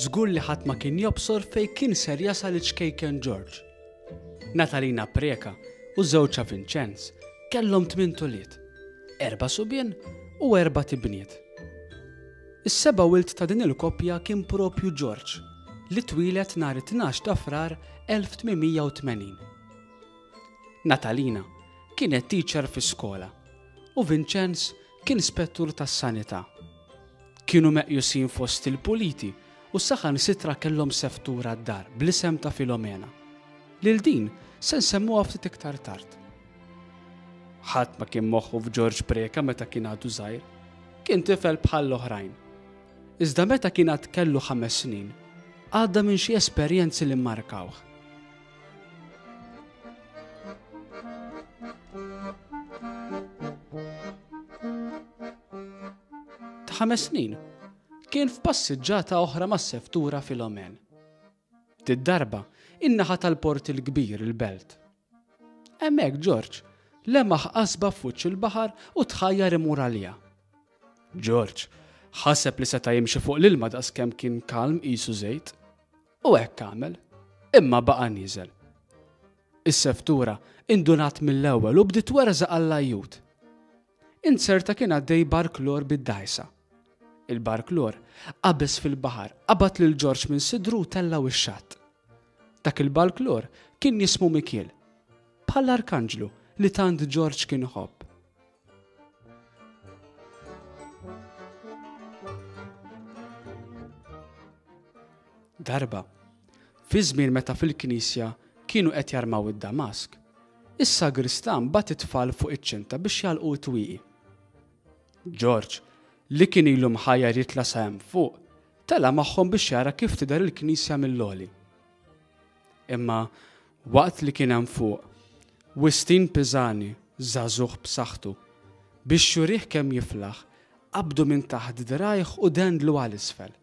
Żgur li ħadd ma kien jobsor fejn kien ser jasal iċ-ċkejken George. Natalina Preca u żewġha Vincenz kellhom tmint ulied, erba' subien u erbat ibniet. Is-seba' wild ta' din il-koppja kien propju George, li twieled nhar it-tnax ta' Frar 1880. Natalina kienet teacher fi skola u Vincenz kien spettur tas-sanità. Kienu meqjusin fost il-puliti u saħansitra kellhom seftura d-dar bl-isem ta' Filomena. Lil din se nsemmuha ftit iktar tard. Ħadd ma kien moħħu f'Ġorġ Preca meta kien għadu żgħir. Kien tifel bħall-oħrajn. Iżda meta kien għad kellu ħames snin, għadda minn xi esperjenzi li mmarkawh. Ta' ħames snin, kien f'passiġġata oħra mas-seftura Filomen. Did-darba, in-naħa tal-Port il-Kbir, il-Belt. Hemmhekk Ġorġ lemaħ qasba f'wiċċ il-baħar u tħajjar imur għaliha. Ġorġ ħaseb li seta' jimxi fuq l-ilma daqskemm kien kalm qisu żejt. U hekk għamel, imma baqa' nieżel. Is-seftura indunat mill-ewwel u bdiet twerżaq għall-ajjut. Inzerta kien għaddej barklor bid-dgħajsa. Il-barklor qabeż fil-baħar, qabad lil Ġorġ minn sidru u tellgħu x-xatt. Dak il-barklor kien jismu Mikiel, bħall-arkanġlu li tant Ġorġ kien iħobb. Darba, fi żmien meta fil-knisja kienu qed jarmaw id-damask, is-sagristan bagħat it-tfal fuq iċ-ċinta biex jagħlqu t-twieqi. Ġorġ, li kien ilu mħajjar jitla' sa hemm fuq, tela' magħhom biex jara kif tidher il-knisja mill-għoli. Imma waqt li kien hemm fuq, Wistin Pisani, żagħżugħ b'saħħtu, biex jurih kemm jiflaħ, qabdu minn taħt dirgħajh u dendlu għal isfel.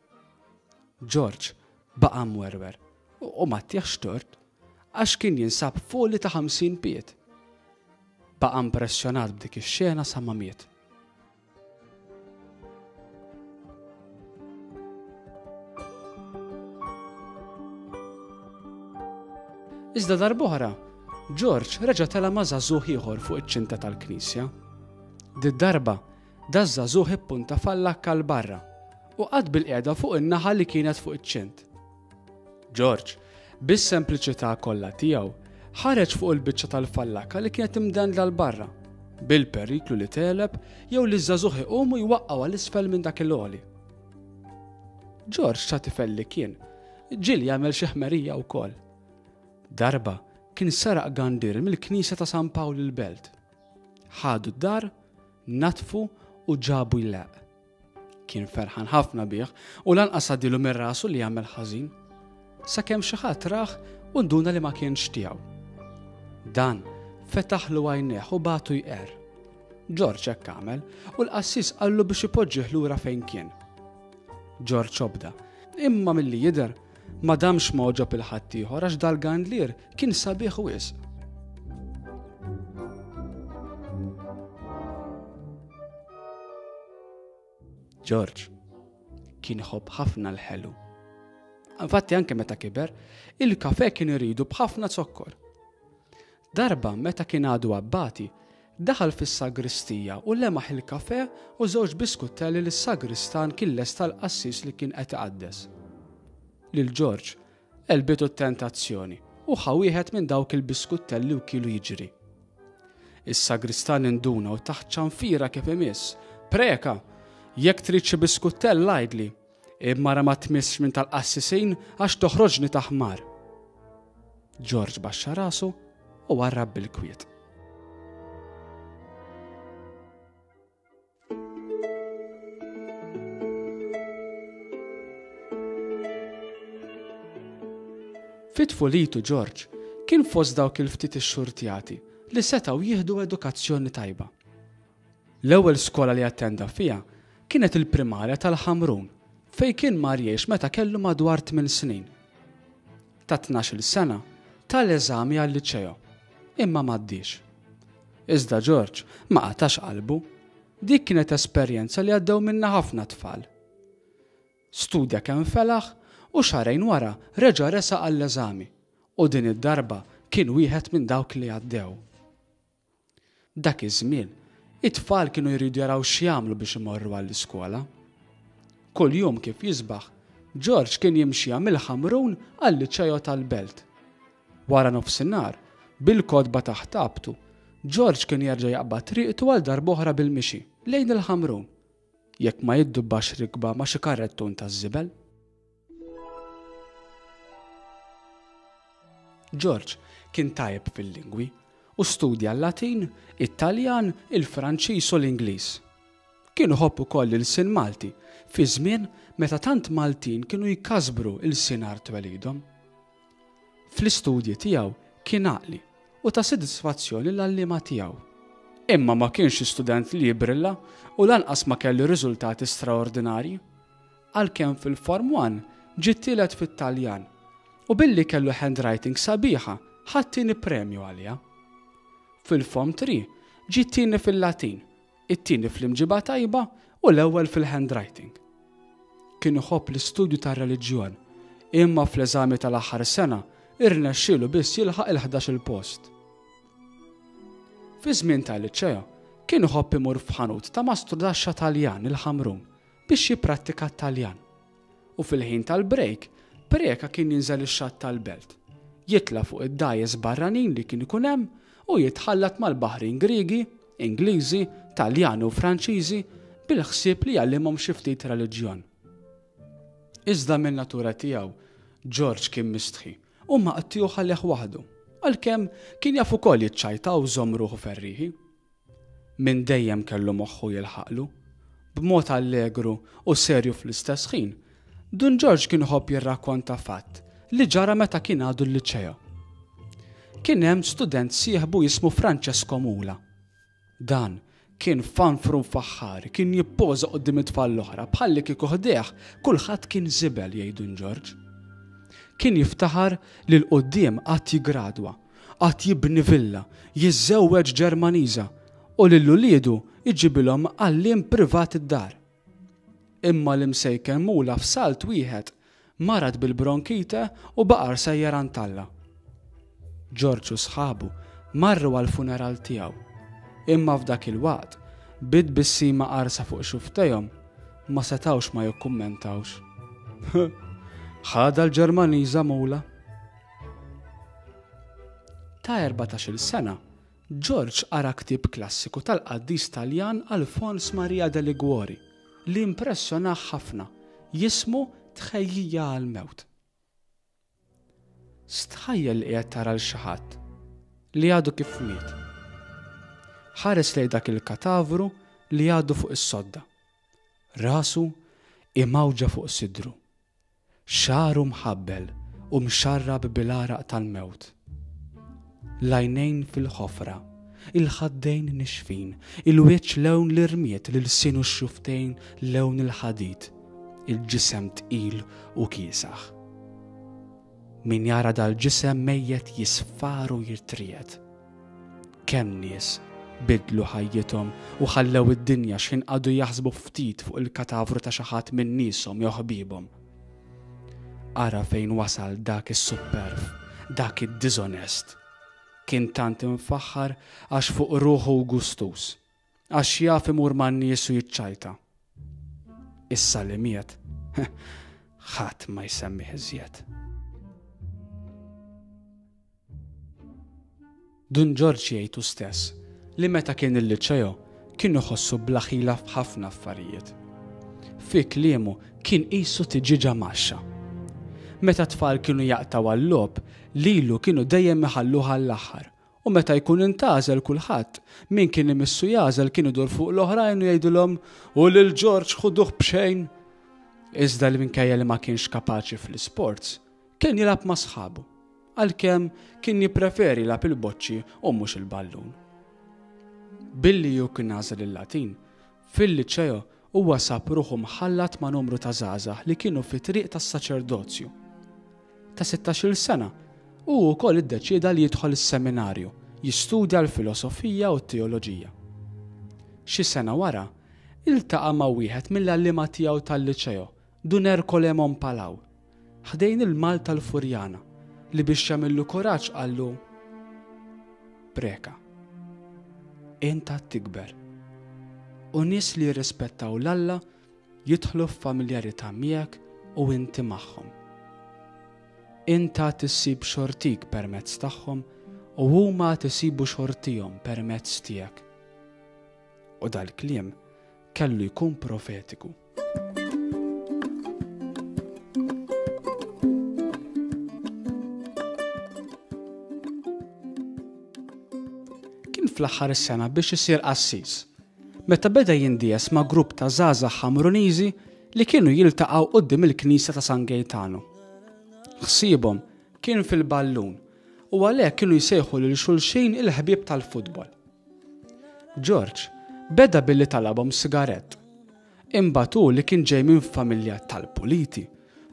Ġorġ baqa' mwerwer u ma ttieħx tort għax kien jinsab f'għoli ta' 50 pied. Baqa' impressjonat b'dik ix-xena sa ma miet. Iżda darb'oħra, George reġa' tela' ma' żagħżugħ ieħor fuq iċ-ċinta tal-knisja. Did-darba, daż-żagħżugħ ippunta fallakka 'l barra u qagħad bilqiegħda fuq in-naħa li kienet fuq iċ-ċint. George, bis-sempliċità kollha tiegħu, ħareġ fuq il-biċċa tal-fallakka li kienet imdendla 'l barra, bil-periklu li tegħleb jew li ż-żagħżugħ iqum u jwaqqgħu għal isfel minn dak il-għoli. George ta' tifel li kien, ġieli jagħmel xi ħmerija wkoll. Darba kien seraq gandir mill-knisja ta' San Pawl il-Belt. Ħadu d-dar, natfu u ġabu jleqq. Kien ferħan ħafna bih u lanqas għaddilu minn rasu li jagħmel ħażin. Sakemm xi ħadd rah u nduna li ma kienx tiegħu. Dan fetaħlu għajnejh u bagħtu jqerr. Ġorġ hekk għamel u l-qassis qallu biex ipoġġih lura fejn kien. Ġorġ obda, imma milli jidher ma damx ma għoġob il-ħaddieħor għax dal-gandlier kien sabiħ wisq. Ġorġ kien iħobb ħafna l-ħelu. Infatti anke meta kiber, il-kafe kien iridu b'ħafna zokkor. Darba meta kien għadu abbati, daħal fis-sagristija u lemaħ il-kafe u żewġ biskuttelli li s-sagristan kien lesta l-qassis li kien qed iqaddes. Lil Ġorġ għelbitu t-tentazzjoni u ħa wieħed minn dawk il-biskuttelli u kielu jiġri. Is-sagristan induna u taħt ċanfira kif imiss. Preka! Jekk trid xi biskuttell għidli, imma ra ma tmissx minn tal-qassisin għax toħroġni ta' ħmar. Ġorġ baxxa rasu u warrab bil-kwiet. Fi tfulitu Ġorġ kien fost dawk il-ftit ixxurtjati li setgħu jieħdu edukazzjoni tajba. L-ewwel skola li attenda fiha kienet il-primarja tal-Ħamrun fejn kien mar jgħix meta kellu madwar tminn snin. Ta' 12-il sena ta l-eżami għal-liċeo, imma m'għaddiex. Iżda Ġorġ ma qatax qalbu. Dik kienet esperjenza li għaddew minnha ħafna tfal. Studja kemm felaħ u xahrejn wara reġa' resaq għall-eżami u din id-darba kien wieħed minn dawk li għaddew. Dak iż-żmien, it-tfal kienu jridu jaraw x'jagħmlu biex imorru għall-iskola. Kuljum kif jisbaħ, Ġorġ kien jimxiha mill-Ħamrun għal-Liċeo tal-Belt. Wara nofsinhar, bil-kotba taħt għabtu, Ġorġ kien jerġa' jaqbad triqtu għal darb'oħra bil-mixi, lejn il-Ħamrun. Jekk ma jiddubbax rikba ma' xi karrettun taż-żibel. Ġorġ kien tajjeb fil-lingwi u studja l-Latin, it-Taljan, il-Franċiż u l-Ingliż. Kien iħobb ukoll l-ilsien Malti fi żmien meta tant Maltin kienu jkasbru ilsien art twelidhom. Fl-istudji tiegħu kien għaqli u ta sodisfazzjon lill-għalliema tiegħu. Imma ma kienx xi student li jibbrilla u lanqas ma kellu riżultati straordinarji. Għalkemm fil-Form One ġie t-tielet fit-Taljan u billi kellu handwriting sabiħa ħa t-tieni premju għaliha. Fil-Form Three ġie t-tieni fil-Latin it-tieni fl-imġiba tajba u l-ewwel fil-handwriting. Kien iħobb l-istudju tar-reliġjon, imma fl-eżami tal-aħħar sena irnexxielu biss jilħaq il-ħdax-il post. Fi żmien tal-liċeo kien iħobb imur f'ħanut ta' mastrudaxxa Taljan il-Ħamrun biex jipprattika t-Taljan. U fil-ħin tal-break, Preca kien jinżel ix-xatt tal-belt, jitla' fuq id-dgħajjes barranin li kien ikun hemm u jitħallat mal-baħrin Griegi, Ingliżi, Taljani u Franċiżi bil-ħsieb li jgħallimhom xi ftit reliġjon. Iżda min-natura tiegħu, Ġorġ kien mistħi u maqtugħ għalih waħdu, għalkemm kien jaf ukoll jiċċajta u jżomm ruħu ferrieħi. Minn dejjem kellu moħħu jilħaqlu. B'mod allegru u serju fl-istess ħin, Dun Ġorġ kien iħobb jirrakkonta fatt li ġara meta kien għadu l-liċeo. Kien hemm student sieħbu jismu Francesco Mula. Dan kien fanfru mfaħħar, kien jippoża quddiem it-tfal l-oħra bħalli kieku ħdejh kulħadd kien żibel jgħid Dun Ġorġ. Kien jiftaħar li 'l quddiem għad jiggradwa Għad jibni villa, jiżżewweġ Ġermaniża u lil uliedu jġibilhom għalliem privat id-dar. Imma l-imsejken mula f'salt wieħed marad bil-bronkite u baqar sejjer għand Alla. Ġorġ u sħabu marru għall-funeral tiegħu. Imma f'dak il-waqt, bi tbissima qarsa fuq xufftejhom, ma setgħux ma jikkummentawx. Ħadha l-Ġermaniża mula. Ta' 14-il sena, Ġorġ qara ktieb klassiku tal-qaddis Taljan Alfons Maria de Liguori li impressjonah ħafna, jismu Tħejjija għall-Mewt. Stħajjel li qiegħed tara 'l xi ħadd li għadu kif miet. Ħares lejn dak il-katavru li għadu fuq is-sodda. Rasu Imgħawġa fuq sidru. Xagħru mħabbel u mxarrab bil-għaraq tal-mewt. L-għajnejn fil-ħofra, il-ħaddejn nixfin, il-wiċċ lewn l-irmied, l-ilsien u x-xufftejn lewn il-ħadid, il-ġisem tqil u kiesaħ. Min jara dal-ġisem mejjet jisfar u jirtriegħed. Kemm nies biddlu ħajjithom u ħallew id-dinja x'ħin qagħdu jaħsbu ftit fuq il-katavru ta' xi ħadd minn nieshom jew ħbiebhom. Ara fejn wasal dak is-supperv, dak id-diżonest. Kien tant imfaħħar għax fuq ruħu u gustuż, għax jaf imur man-nies u jiċċajta. Issa li miet, ħadd ma jsemmih iżjed. Dun Ġorġ jgħid hu stess li meta kien il-Liċeo kien iħossu bla ħila f'ħafna affarijiet. Fi kliemu kien qisu tiġieġa mgħaxxa. Meta t-tfal kienu jaqtgħu għal-logħob, lilu kienu dejjem iħalluh għall-aħħar u meta jkun intgħażel kulħadd, min kien imissu jagħżel kien idur fuq l-oħrajn u jgħidilhom u lil Ġorġ ħuduh b'xejn! Iżda li minkejja li ma kienx kapaċi fl-isports, Kien jilgħab ma' sħabu, għalkemm kien jippreferi jilgħab il-boċċi u mhux il-ballun. Billi hu kien għażel il-Latin, fil-Liċeo huwa sab ruħu mħallat ma' numru ta' żgħażagħ li kienu fit-triq tas-saċerdozju. Ta' sittax-il sena, hu wkoll iddeċieda li jidħol is-seminarju jistudja l-filosofija u t-teoloġija. Xi sena wara, iltaqa' ma' wieħed mill-għalliema tiegħu tal-Liċeo, Dun Ercole Mompalau, ħdejn il-Mal tal-Furjana, li biex jagħmillu kuraġġ qallu, Preka. Int għad tikber. U nies li jirrispettaw 'l Alla jidħlu f'familjarità miegħek u inti magħhom. Int għad issib xortik permezz tagħhom u huma għad isibu xortihom permezz tiegħek. U dal-kliem kellu jkun profetiku. Kien fl-aħħar is-sena biex isir qassis, meta beda jindies ma' grupp ta' żgħażagħ Ħamruniżi li kienu jiltaqgħu quddiem il-knisja ta' San Gejtanu. Ħsiebhom kien fil-ballun u għalhekk kienu jsejħu lil xulxin il-ħbieb tal-futbol. Ġorġ beda billi talabhom sigarett. Imbagħad hu li kien ġej minn familja tal-puliti,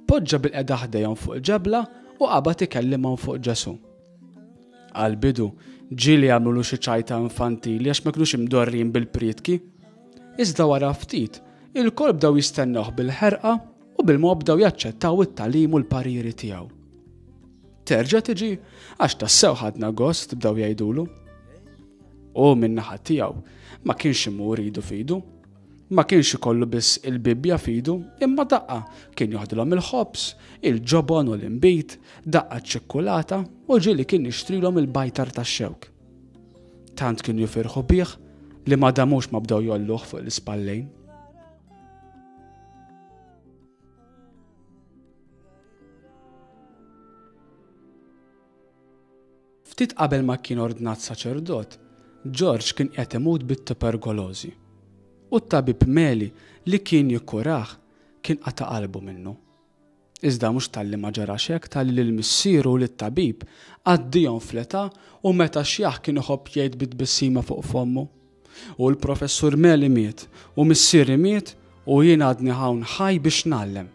poġġa bilqiegħda ħdejhom fuq ġebla u qabad ikellimhom fuq Ġesù. Għall-bidu, ġieli għamlulu xi ċajta infantili għax ma kinux imdorrijin bil-prietki. Iżda wara ftit, ilkoll bdew jistennewh bil-ħerqa u bil-mod bdew jaċċettaw it-tagħlim u l-pariri tiegħu. Terġa' tiġi għax tassew ħadna gost bdew jgħidulu. U min-naħa tiegħu ma kienx imur idu f'idu. Ma kienx ikollu biss il-Bibbja f'idu, imma daqqa kien joħdilhom il-ħobż, il-ġobon u l-inbid, daqqa ċ-ċikkulata u ġieli kien jixtrilhom il-bajtar tax-xewk. Tant kienu jifirħu bih li ma damux ma bdew jgħolluh fuq l-ispallejn. Ftit qabel ma kien ordnat saċerdot, Ġorġ kien qiegħed imut bit-tuberkolożi. U t-tabib Meli li kien jikkurah kien qata' qalbu minnu. Iżda mhux talli ma ġarax hekk talli lil missieru u lit-tabib għaddihom fl-età u meta xjaħ kien iħobb jgħid bi tbissima fuq fommu, U l-Professur Meli miet, u missieri miet, u jien għadni hawn ħaj biex ngħallem.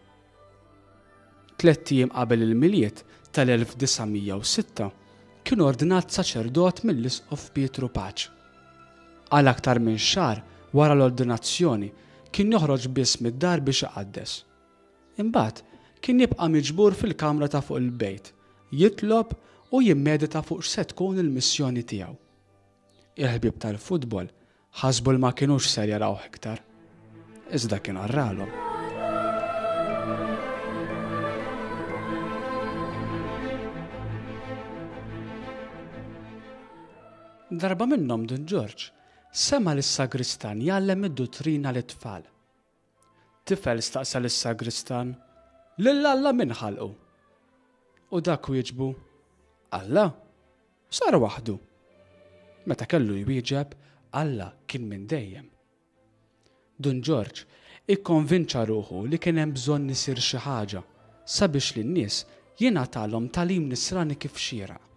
Tlett ijiem qabel il-Milied tal-1906 kien ordnat saċerdot mill-Isqof Pietru Paċ. Għal aktar minn xahar wara l-ordinazzjoni kien joħroġ biss mid-dar biex iqaddes. Imbagħad kien jibqa' miġbur fil-kamra ta' fuq il-bejt, jitlob u jimmedita fuq x'se tkun il-missjoni tiegħu. Il-ħbieb tal-futbol ħasbu li ma kinux ser jarawh iktar. Iżda kien għarralhom. Darba minnhom Dun Ġorġ sema' lis-sagristan jgħallem id-duttrina lit-tfal. Tifel staqsa lis-sagristan, Lil Alla min ħalqu? U dak wieġbu, Alla? Sar waħdu. Meta kellu jwieġeb, Alla kien minn dejjem. Dun Ġorġ. Ikkonvinċa ruħu li kien hemm bżonn isir xi ħaġa sabiex lin-nies jingħatalhom tagħlim Nisrani kif xieraq.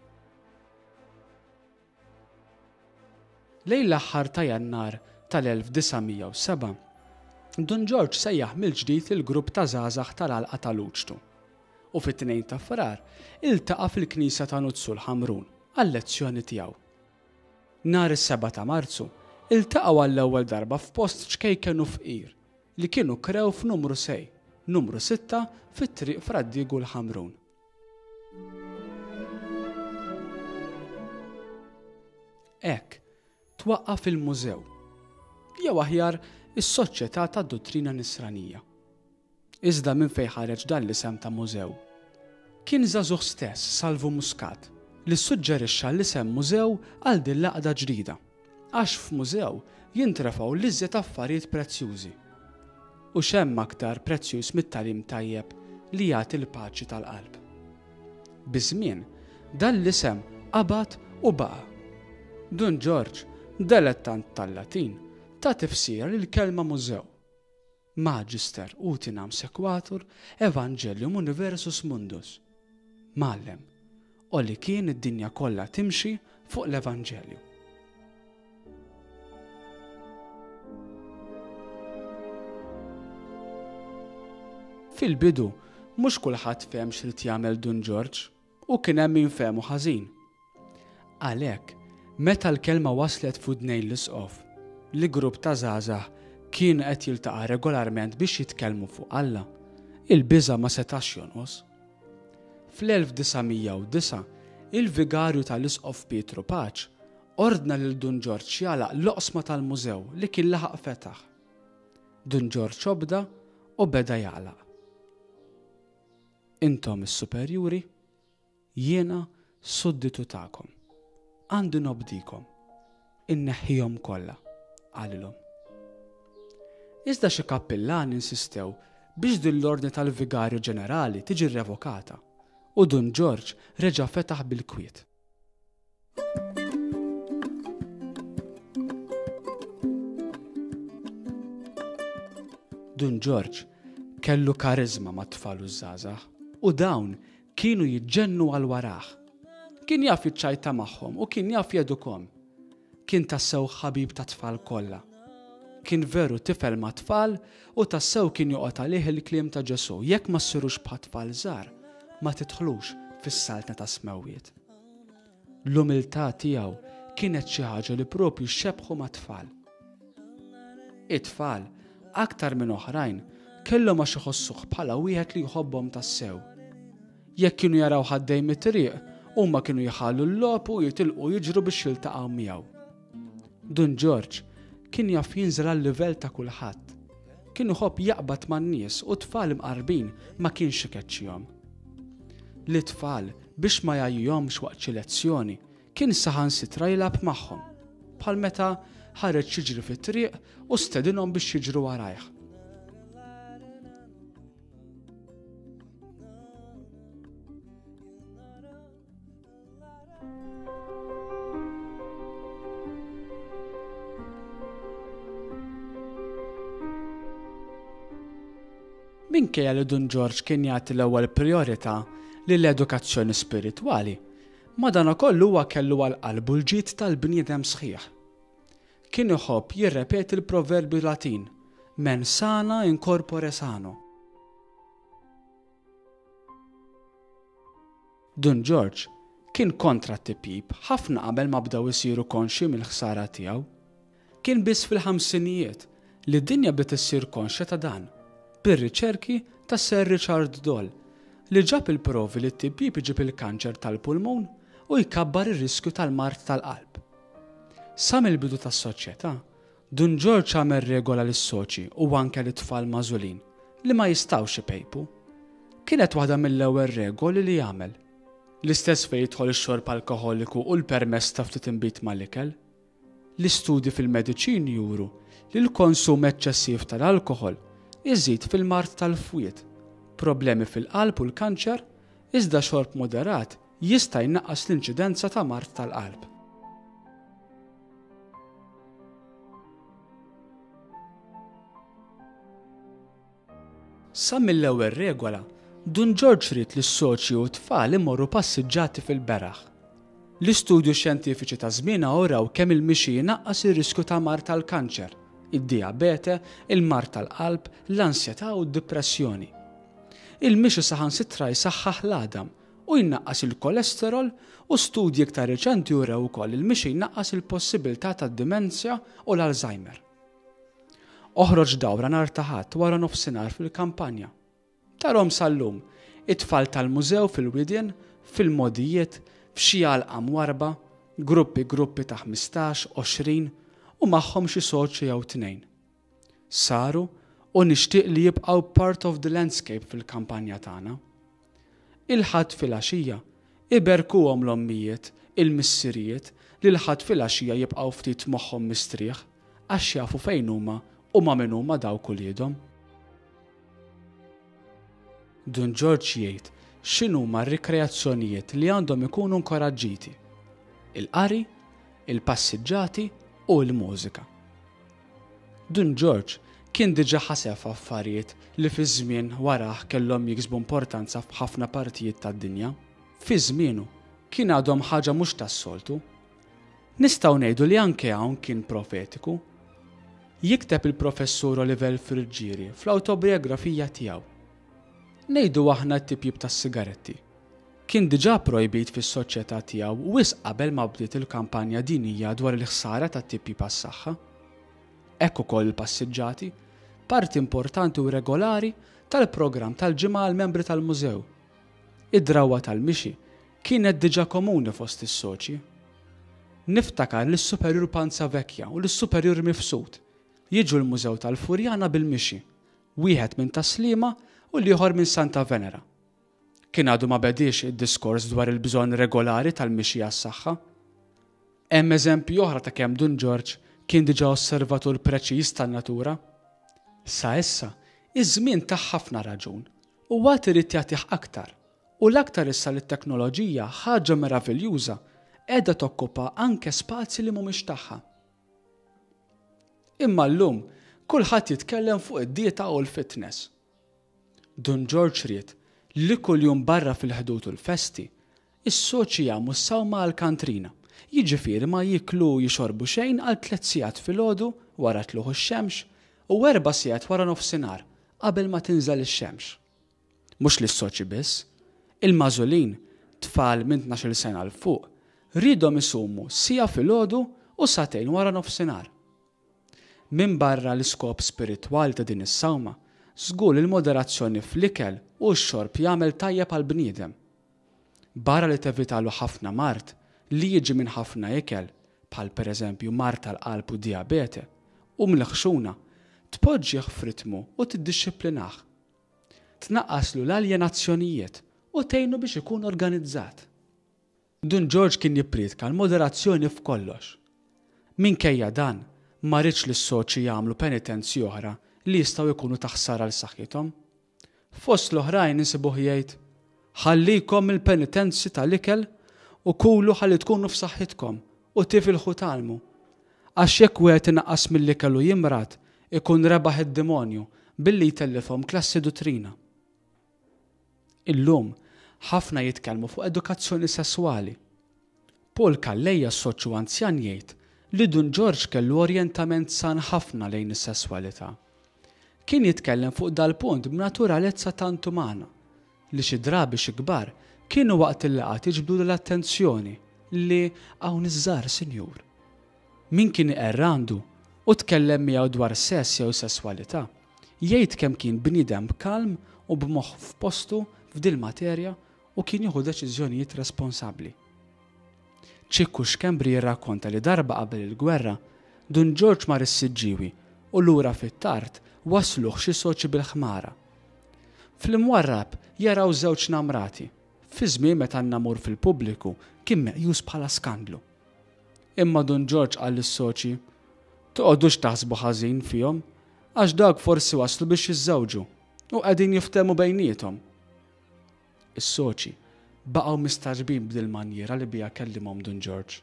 Lejn l-aħħar ta' Jannar tal-1907, Dun Ġorġ sejjaħ mill-ġdid lill-grupp ta' żgħażagħ tal-Għalqa ta' Luċtu u fit-2 ta' Frar iltaqa' fil-knisja ta' Nuzzu l-Ħamrun għal-lezzjoni tiegħu. Nhar is-7 ta' Marzu, iltaqgħu għall-ewwel darba f'post ċkejken u fqir li kienu krew f'numru sei, numru sitta fi Triq Fra Diegu l-Ħamrun. Hekk, twaqqaf il-mużew, jew aħjar is-Soċjetà tad-Duttrina Nisranija. Iżda minn fejn ħareġ dan l-isem ta' mużew? Kien żagħżugħ stess, Salvu Muscat, li ssuġġerixxa l-isem mużew għal din l-għaqda ġdida. Għax f'mużew jintrefgħu l-iżjed affarijiet prezzjużi. U x'hemm aktar prezzjuż mit-tagħlim tajjeb li jagħti l-paċi tal-qalb? Biż-żmien, dan l-isem qabad u baqa'. Dun Ġorġ, delettant tal-Latin, ta tifsira lill-kelma mużew. Magister utinam sequatur evangelium universus mundus. Mgħallem, o li kien id-dinja kollha timxi fuq l-Evanġelju. Fil-bidu, mhux kulħadd fehem x'ried jagħmel Dun Ġorġ u kien hemm min fehmu ħażin. Għalhekk, meta l-kelma waslet f'widnejn l-isqof, li grupp ta' żgħażagħ kien qed jiltaqa' regolarment biex jitkellmu fuq Alla, il-biża' ma setax jonqos. Fl-1909, il-vigarju tal-Isqof Pietru Paċ ordna lil Dun Ġorġ jagħlaq l-oqsma tal-mużew li kien laħaq fetaħ. Dun Ġorġ obda u beda jagħlaq. Intom is-superjuri? Jiena sudditu tagħkom. Għandi nobdikom. Inneħħihom kollha, qalilhom. Iżda xi kappillani insistew biex din l-ordni tal-Vigarju Ġenerali tiġi revokata u Dun Ġorġ reġa' fetaħ bil-kwiet. Dun Ġorġ kellu kariżma mat-tfal u ż-żgħażagħ u dawn kienu jiġġennu għal warah. Kien jaf jiċċajta magħhom u kien jaf jedukhom. Kien tassew ħabib tat-tfal kollha. Kien veru tifel mat-tfal u tassew kien joqgħod għalih il-kliem ta' Ġesù, jekk ma ssirux bħat-tfal żgħar, ma tidħlux fis-saltna tas-smewwiet. L-umiltà tiegħu kienet xi ħaġa li propju xebbħu mat-tfal. It-tfal, aktar minn oħrajn, kellhom għax iħossuh bħala wieħed li jħobbhom tassew. Jekk kienu jarawh għaddej mit-triq, huma kienu jħallu l-logħob u jitilqu jiġru biex jiltaqgħu miegħu. Dun Ġorġ kien jaf jinżel għal-livell ta' kulħadd. Kien iħobb jaqbad man-nies u tfal imqarbin ma kienx ikeċċihom. Lit-tfal biex ma jgħajjihomx waqt xi lezzjoni, kien saħansitra jilgħab magħhom, bħal meta ħareġ jiġri fit-triq u stedinhom biex jiġru warajh. Minkejja li Dun Ġorġ kien jagħti l-ewwel prijorità lill-edukazzjoni spiritwali, madankollu huwa kellu għal qalbu l-ġid tal-bniedem sħiħ. Kien iħobb jirrepeti l-proverbju Latin, mens sana in corpore sano. Dun Ġorġ kien kontra t-tipjip ħafna qabel ma bdew isiru konxji mill-ħsara tiegħu. Kien biss fil-ħamsinijiet li d-dinja bdiet issir konxja ta' dan, bir-riċerki ta' Sir Richard Doll, li ġab il-provi li t-tipjip iġib il-kanċer tal-pulmun u jkabbar ir-riskju tal-mard tal-qalb. Sa mill-bidu tas-Soċjetà, Dun Ġorġ għamel regola lis-soċi u anke lit-tfal magħżulin li ma jistgħux ipejpu. Kienet waħda mill-ewwel regoli li għamel. L-istess fejn jidħol ix-xorb alkoħoliku u l-permess ta' ftit inbid mal-ikel. L-istudji fil-mediċini juru li l-konsum eċċessiv tal-alkoħol iżid fil-mard tal-fwied, problemi fil-qalb u l-kanċer, iżda xorb moderat jista' jnaqqas l-inċidenza ta' mard tal-qalb. Sa mill-ewwel regola, Dun Ġorġ ried li s-soċji u t-tfal imorru passiġġati fil-beraħ. L-istudju xjentifiċi ta' żmienha uraw kemm il-mixi jnaqqas ir-riskju ta' mard tal-kanċer, id-dijabete, il-mard tal-qalb, l-ansjetà u d-dipressjoni. Il-mixi saħansitra jsaħħaħ l-għadam u jnaqqas il-kolesterol u studji iktar riċenti urew ukoll li l-mixi jnaqqas il-possibilità tad-dimenzja u l-Alzheimer. Oħroġ dawra nhar ta' Ħadd wara nofsinhar fil-kampanja. Tarhom sal-lum, it-tfal tal-mużew fil-widien, fil-mogħdijiet, f'xi għalqa mwarrba, gruppi gruppi ta' 15, 20 u magħhom xi soċju jew tnejn. Saru u nixtieq li jibqgħu part of the landscape fil-kampanja tagħna. Il-Ħadd filgħaxija, iberkuhom l-ommijiet, il-missirijiet li l-Ħadd filgħaxija jibqgħu ftit moħħhom mistrieħ għax jafu fejn huma u ma' min huma dawk uliedhom. Dun Ġorġ jgħid x'inhuma r-rikreazzjonijiet li għandhom ikunu nkoraġġiti. Il-qari, il-passiġġati u l-mużika. Dun Ġorġ kien diġà ħaseb f'affarijiet li fiż-żmien warah kellhom jiksbu importanza f'ħafna partijiet tad-dinja. Fi żmienu, kien għadhom ħaġa mhux tas-soltu. Nistgħu ngħidu li anke hawn kien profetiku. Jikteb il-Professur Oliver Friggieri fl-awtobiografija tiegħu. Ngħidu aħna t-tipjip tas-sigaretti. Kien diġà projbit fis-soċjetà tiegħu wisq qabel ma bdiet il-kampanja dinjija dwar il-ħsara tat-tipjip għas-saħħa. Hekk ukoll il-passiġġati, parti importanti u regolari tal-programm tal-ġimgħa għall-membri tal-mużew. Id-drawwa tal-mixi kienet diġà komuni fost is-soċji. Niftakar lis-Superjur Panzavecchia u lis-Superjur Mifsud jiġu l-Mużew tal-Furjana bil-mixi, wieħed minn Tas-Sliema u l-ieħor minn Santa Venera. Kien għadu ma bediex id-diskors dwar il-bżonn regolari tal-mixi għas-saħħa. Hemm eżempji oħra ta' kemm Dun Ġorġ kien diġà osservatur preċiż tan-natura. Sa issa, iż-żmien tah ħafna raġun u għad irid jagħtih aktar, u l-aktar issa li t-teknoloġija, ħaġa meraviljuża, qiegħda tokkupa anke spazji li mhumiex tagħha. Imma llum kulħadd jitkellem fuq id-dieta u l-fitness. Dun Ġorġ ried li kuljum barra fil-Ħdud u l-festi, is-soċji jagħmu s-sawma għall-kantrina, jiġifieri ma jieklu u jixorbu xejn għal tlett sigħat filgħodu wara tlugħ ix-xemx u erba' sigħat wara nofsinhar qabel ma tinżel ix-xemx. Mhux lis-soċji biss, il-magħżulin, tfal minn tnax-il sena 'l fuq, riedhom isumu siegħa filgħodu u sagħtejn wara nofsinhar. Minbarra l-iskop spiritwali ta' din is-sawma, żgur li l-moderazzjoni fl-ikel u x-xorb jagħmel tajjeb għall-bniedem. Barra li tevitalu ħafna mard li jiġi minn ħafna ikel, bħal pereżempju mard tal-qalb u dijabete, u mill-ħxuna, tpoġġih f'ritmu u tiddixxiplinah. Tnaqqaslu l-aljenazzjonijiet u tgħinu biex ikun organizzat. Dun Ġorġ kien jipprietka l-moderazzjoni f'kollox. Minkejja dan, ma riedx li s-soċji jagħmlu penitenzi oħra li jistgħu jkunu ta' ħsara għal saħħithom. Fost l-oħrajn insibuh jgħid, Ħallikom mill-penitenzi tal-ikel u kulu ħalli tkunu f'saħħitkom u tifilħu tgħallmu. Għax jekk wieħed inaqqas mill-ikel u jimrad, ikun rebaħ id-dimonju billi jtellifhom klassi duttrina. Illum, ħafna jitkellmu fuq edukazzjoni sesswali. Paul Calleja soċju anzjan jgħid li Dun Ġorġ kellu orjentament san ħafna lejn is-sesswalità. Kien jitkellem fuq dal-punt b'naturalezza tant umana li xi drabi xi kbar kienu waqt il-laqgħat jiġbdulu l-attenzjoni li hawn iż-żgħar sinjur. Min kien iqerr għandu u tkellem miegħu dwar sess jew sesswalità, jgħid kemm kien bniedem kalm u b'moħħ f'postu f'dil-materja u kien jieħu deċiżjonijiet responsabbli. Ċikku Schembri jirrakkonta li darba qabel il-gwerra, Dun Ġorġ mar is-Siġġiewi u lura fit-tard wassluh xi soċi bil-ħmara. Fl-imwarrab jaraw żewġ namrati, fi żmien meta n-namur fil-pubbliku kien meqjus bħala skandlu. Imma Dun Ġorġ qal lis-soċji, Toqgħodux taħsbu ħażin fihom, għax dawk forsi waslu biex jiżżewġu u qegħdin jiftehmu bejniethom. Is-soċji baqgħu mistagħġbin b'dil-manjiera li biha kellimhom Dun Ġorġ.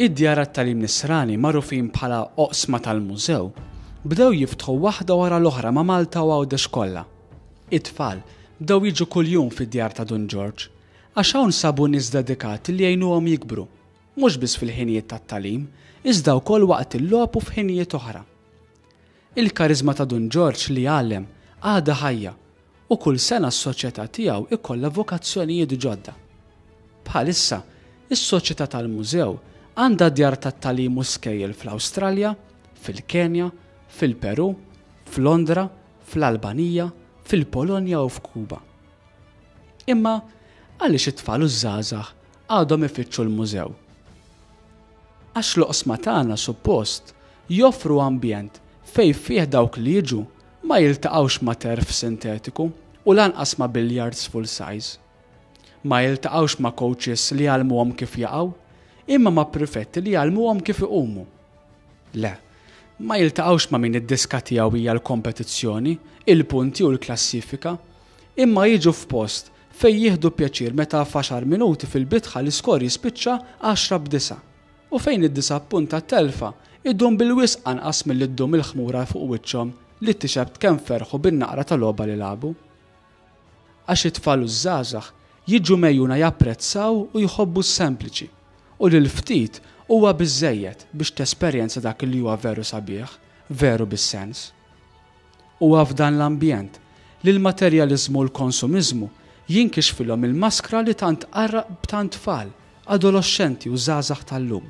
Id-djar għat-tagħlim Nisrani magħrufin bħala oqsma tal-mużew bdew jiftħu waħda wara l-oħra ma' Malta u Għawdex kollha. It-tfal bdew jiġu kuljum fid-djar ta' Dun Ġorġ għax hawn sabu nies dedikati li jgħinuhom jikbru, mhux biss fil-ħinijiet tat-tagħlim, iżda wkoll waqt il-logħob u f'ħinijiet oħra. Il-kariżma ta' Dun Ġorġ li jgħallem għadha ħajja u kull sena s-soċjetà tiegħu jkollha vokazzjonijiet ġodda. Bħalissa, is-Soċjetà tal-Mużew għandha djar tat-tagħlim u skejjel fl-Awstralja, fil-Kenja, fil-Perù, f'Londra, fl-Albanija, fil-Polonja u f'Kuba. Imma għaliex it-tfal u ż-żgħażagħ għadhom ifittxu l-mużew? Għax l-oqsma tagħna suppost joffru ambjent fejn fih dawk li jiġu ma jiltaqgħux ma' turf sintetiku u lanqas ma' billiards full size. Ma jiltaqgħux ma' coaches li jgħallmuhom kif jaqgħu, imma ma' prefetti li jgħallmuhom kif iqumu. Le, ma jiltaqgħux ma' min id-diska tiegħu hija l-kompetizzjoni, il-punti u l-klassifika, imma jiġu f'post fejn jieħdu pjaċir meta f'għaxar minuti fil-bitħa l-iskor jispiċċa għaxra b'disgħa u fejn id-disappunt tat-telfa jdum bil-wisq anqas milli ddum il-ħmura fuq wiċċhom li tixhed kemm ferħu bin-naqra ta' logħba li lagħbu. Għax it-tfal u ż-żgħażagħ jiġu megħjuna japprezzaw u jħobbu s-sempliċi u li l-ftit huwa biżżejjed biex tesperjenza dak li huwa veru sabiħ, veru bis-sens. Huwa f'dan l-ambjent li l-materjaliżmu u l-konsumiżmu jinkixfilhom il-maskra li tant tqarraq b'tant tfal, adoloxxenti u żgħażagħ tal-lum.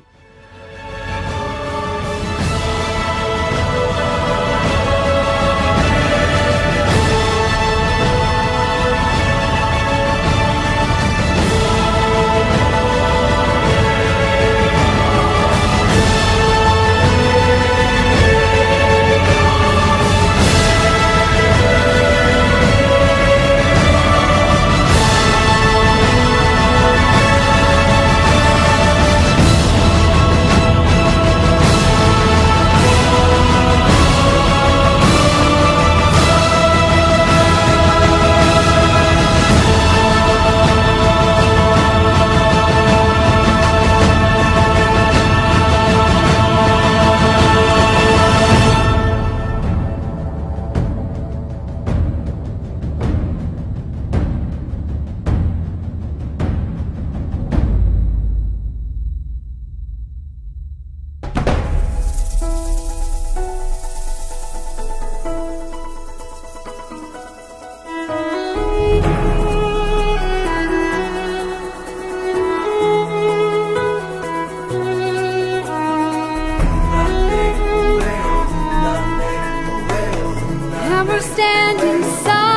And we're standing side